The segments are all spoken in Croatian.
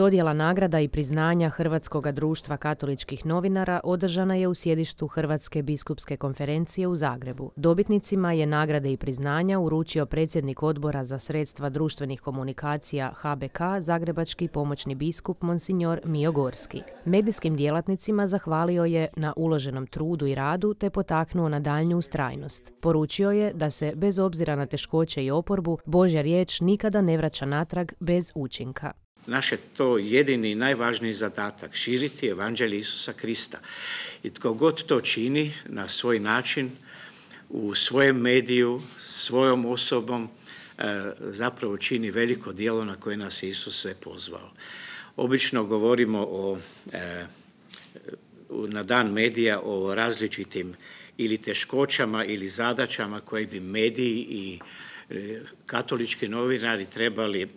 Dodjela nagrada i priznanja Hrvatskoga društva katoličkih novinara održana je u sjedištu Hrvatske biskupske konferencije u Zagrebu. Dobitnicima je nagrade i priznanja uručio predsjednik Odbora za sredstva društvenih komunikacija HBK, zagrebački pomoćni biskup Monsignor Mijo Gorski. Medijskim djelatnicima zahvalio je na uloženom trudu i radu te potaknuo na daljnju ustrajnost. Poručio je da se, bez obzira na teškoće i oporbu, Božja riječ nikada ne vraća natrag bez učinka. Naš je to jedini i najvažniji zadatak, širiti evanđelje Isusa Krista. I tko god to čini na svoj način, u svojem mediju, svojom osobom, zapravo čini veliko djelo na koje nas je Isus sve pozvao. Obično govorimo na dan medija o različitim ili teškoćama ili zadaćama koje bi mediji i katolički novinari trebali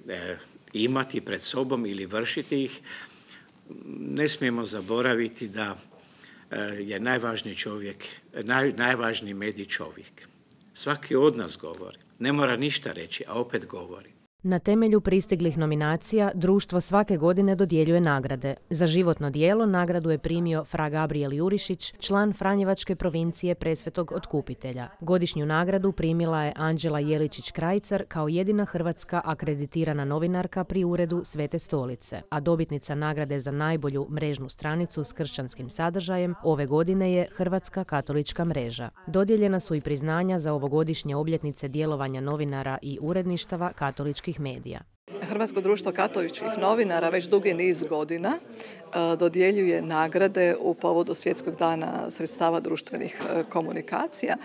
imati pred sobom ili vršiti ih. Ne smijemo zaboraviti da je najvažniji medij čovjek. Svaki od nas govori, ne mora ništa reći, a opet govori. Na temelju pristiglih nominacija društvo svake godine dodjeljuje nagrade. Za životno djelo nagradu je primio fra Gabriel Jurišić, član Franjevačke provincije Presvetog Otkupitelja. Godišnju nagradu primila je Anđela Jeličić-Krajcar kao jedina hrvatska akreditirana novinarka pri uredu Svete stolice, a dobitnica nagrade za najbolju mrežnu stranicu s kršćanskim sadržajem ove godine je Hrvatska katolička mreža. Dodijeljena su i priznanja za ovogodišnje obljetnice djelovanja novinara i uredništava katoličkih medija. Hrvatsko društvo katoličkih novinara već dugi niz godina dodjeljuje nagrade u povodu Svjetskog dana sredstava društvenih komunikacija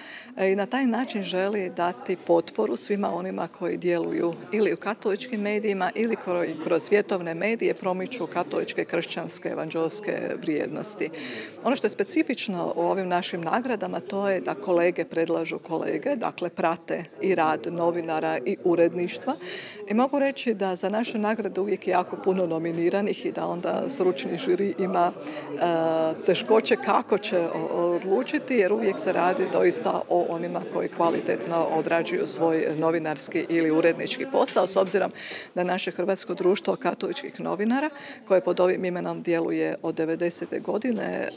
i na taj način želi dati potporu svima onima koji djeluju ili u katoličkim medijima ili kroz svjetovne medije promiču katoličke, kršćanske, evanđelske vrijednosti. Ono što je specifično u ovim našim nagradama to je da kolege predlažu kolege, dakle prate i rad novinara i uredništva i mogu reći da za naše nagrade uvijek je jako puno nominiranih i da onda stručni žiri ima teškoće kako će odlučiti, jer uvijek se radi doista o onima koji kvalitetno odrađuju svoj novinarski ili urednički posao, s obzirom da naše Hrvatsko društvo katoličkih novinara, koje pod ovim imenom djeluje od 90. godine,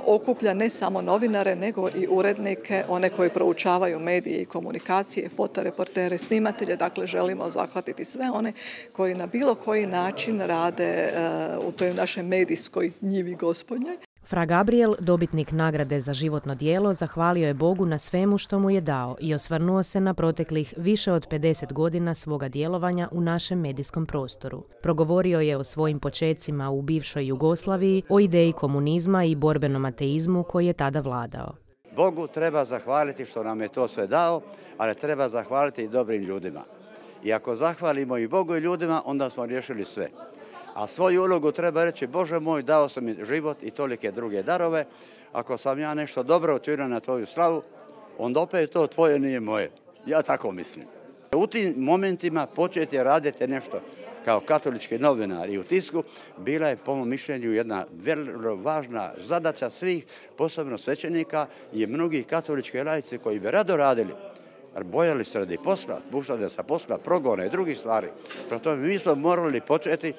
okuplja ne samo novinare, nego i urednike, one koji proučavaju medije i komunikacije, fotoreportere, snimatelje, dakle želimo zahvatiti sve one koji na bilo koji način rade u toj našoj medijskoj njivi Gospodnjoj. Fra Gabriel, dobitnik nagrade za životno djelo, zahvalio je Bogu na svemu što mu je dao i osvrnuo se na proteklih više od 50 godina svoga djelovanja u našem medijskom prostoru. Progovorio je o svojim počecima u bivšoj Jugoslaviji, o ideji komunizma i borbenom ateizmu koji je tada vladao. Bogu treba zahvaliti što nam je to sve dao, ali treba zahvaliti i dobrim ljudima. I ako zahvalimo i Bogu i ljudima, onda smo riješili sve. A svoju ulogu treba reći, Bože moj, dao sam mi život i tolike druge darove. Ako sam ja nešto dobro učinio na tvoju slavu, onda opet to tvoje nije moje. Ja tako mislim. U tim momentima početi raditi nešto kao katolički novinar i u tisku, bila je po mom mišljenju jedna vrlo važna zadaća svih, posebno svećenika i mnogih katoličkih laici koji bi rado radili. Bojali se radi posla, puštali sa posla, progona i drugih stvari. Prema tome mi smo morali početi,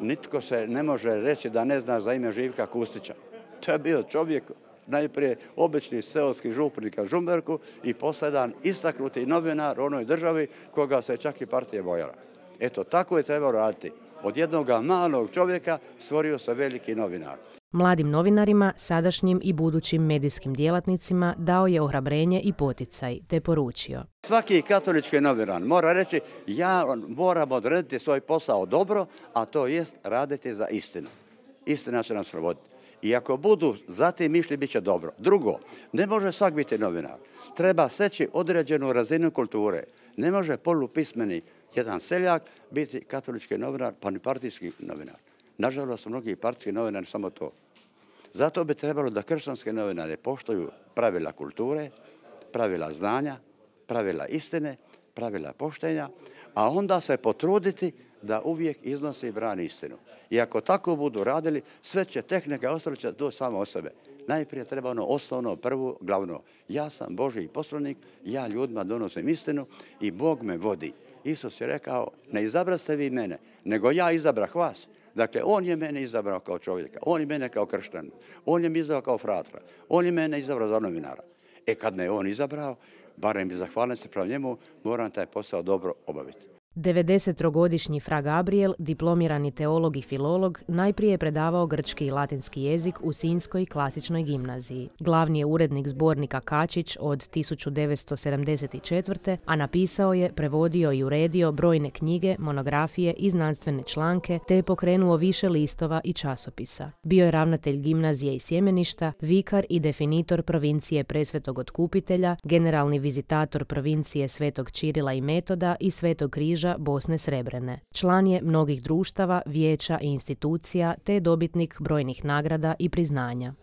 nitko se ne može reći da ne zna za ime Živka Kustića. To je bio čovjek, najprije obični seoski župnik u Žumberku i posljedan istaknuti novinar u onoj državi koga se čak i partija bojala. Eto, tako je trebalo raditi. Od jednog malog čovjeka stvorio se veliki novinar. Mladim novinarima, sadašnjim i budućim medijskim djelatnicima dao je ohrabrenje i poticaj, te poručio. Svaki katolički novinar mora reći, ja moram odrediti svoj posao dobro, a to jest raditi za istinu. Istina će nas provoditi. I ako budu za tim išli, bit će dobro. Drugo, ne može svak biti novinar. Treba steći određenu razinu kulture. Ne može polupismeni jedan seljak biti katolički novinar, pa ni partijski novinar. Nažalost, mnogi partijski novinari samo to. Zato bi trebalo da kršćanske novinare poštuju pravila kulture, pravila znanja, pravila istine, pravila poštenja, a onda se potruditi da uvijek iznosi i brani istinu. I ako tako budu radili, sve će tehnike ostati to samo o sebe. Najprije treba ono osnovno, prvo, glavno. Ja sam Božji poslanik, ja ljudima donosim istinu i Bog me vodi. Isus je rekao, ne izabraste vi mene, nego ja izabrah vas. Dakle, on je mene izabrao kao čovjeka, on je mene kao kršćanina, on je me izabrao kao fratra, on je mene izabrao za novinara. Kad me on izabrao, barem bi zahvalan se prema njemu, moram taj posao dobro obaviti. 93-godišnji fra Gabriel, diplomirani teolog i filolog, najprije je predavao grčki i latinski jezik u Sinjskoj klasičnoj gimnaziji. Glavni je urednik zbornika Kačić od 1974. a napisao je, prevodio i uredio brojne knjige, monografije i znanstvene članke, te je pokrenuo više listova i časopisa. Bio je ravnatelj gimnazije i sjemeništa, vikar i definitor provincije Presvetog Otkupitelja, generalni vizitator provincije Svetog Čirila i Metoda i Svetog Križa Bosne Srebrene. Član je mnogih društava, vijeća i institucija te je dobitnik brojnih nagrada i priznanja.